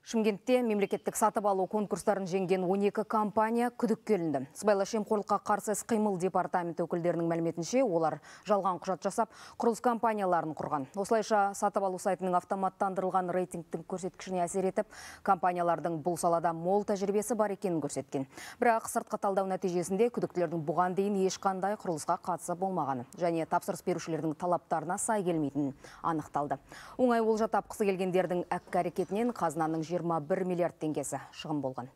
Шымкентте мемлекеттік сатып алу конкурстарын жеңген 12 компания күдікке ілінді. Сыбайлас жемқорлыққа қарсы іс-қимыл департаменті өкілдерінің мәліметінше, олар жалған құжат жасап, құрылыс компанияларын құрған. Осылайша сатып алу сайтының автоматтандырылған рейтингтің көрсеткішіне әсер етіп, компаниялардың бұл салада мол тәжірибесі бар екенін көрсеткен. Бірақ сыртқы талдау нәтижесінде күдіктілердің бұған дейін ешқандай құрылысқа қатысы болмағаны және тапсырыс берушілердің талаптарына сай келмейтінін анықталды. Оңай олжа тапқысы келгендердің әккі әрекетінен қазынаның 21 миллиард теңгесі шығын болған.